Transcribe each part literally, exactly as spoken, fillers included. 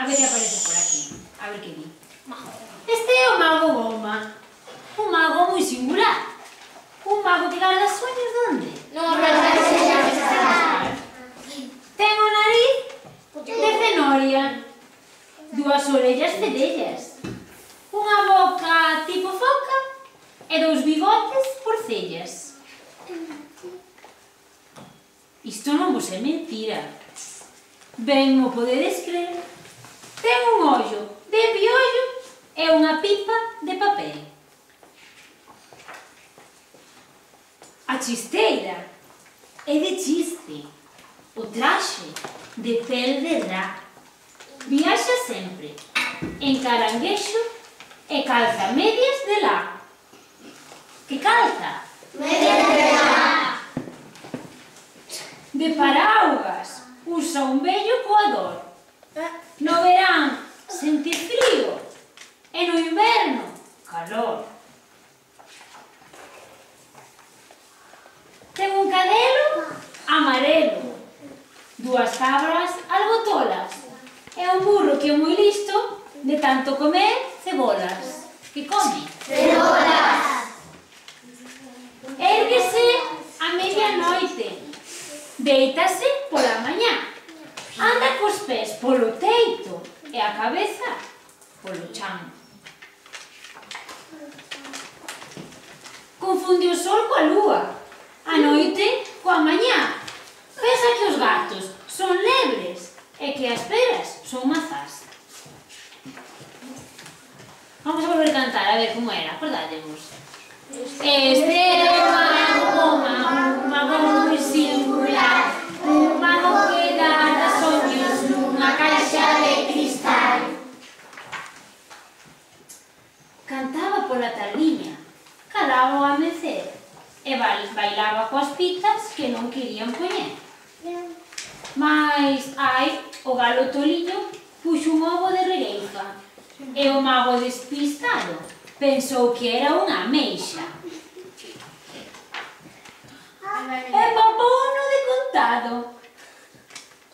A ver que aparece por aquí. A ver que di. Este é o mago Goma. Un mago moi singular. Un mago que garda sueños donde? No, no, Ten o nariz de cenoria, dúas orellas fedellas, unha boca tipo foca e dous bigotes porcellas. Isto non vos é mentira. Ben mo podedes crer. Ten un ollo de piollo e unha pipa de papel. A chisteira é de chiste. O traxe de pel de rá. Viaxa sempre en caranguexo e calza medias de lá. Que calza? Medias de lá. De paraugas usa un vello coador. No verán sentir frío e no inverno calor. Ten un cadelo amarelo, dúas cabras algo tolas e un burro que é moi listo de tanto comer cebolas. Que come? Cebolas. Érguese a medianoite, deítase pola mañá, anda cos pés polo teito e a cabeza polo chan. Confunde o sol coa lúa, a noite coa mañá. Pensa que os gatos son lebres e que as peras son mazás. Vamos a volver a cantar, a ver como era, acordádemos. Este é o mago Goma, un mago moi singular, un mago que garda soños nunha caixa de cristal. Cantaba pola tardiña, calaba o amecer e bailaba coas pitas que non querían poñer. Mais, ai, o galo toliño puxo un ovo de regueifa e o mago despistado pensou que era unha ameixa. E papouno de contado,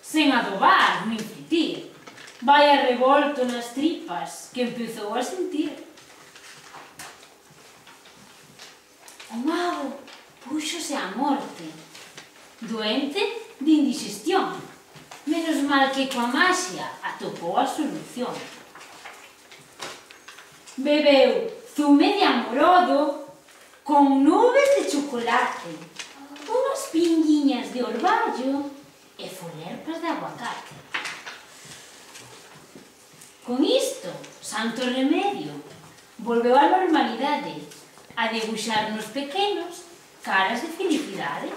sen adobar nin fritir. Vai a revolto nas tripas que empezou a sentir. O mago púxose á morte, doente de indigestión. Menos mal que coa maxia atopou a solución. Bebeu zume de amorodo con nubes de chocolate, unhas pinguiñas de orballo e folerpas de aguacate. Con isto, santo remedio, volveu á normalidade, a debuxar nos pequenos caras de felicidade.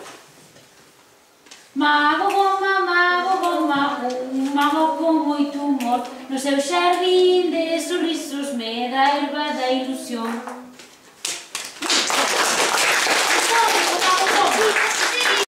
Mago Goma, mago Goma, un mago con moito humor, no seu xardín de sorrisos me da erva da ilusión.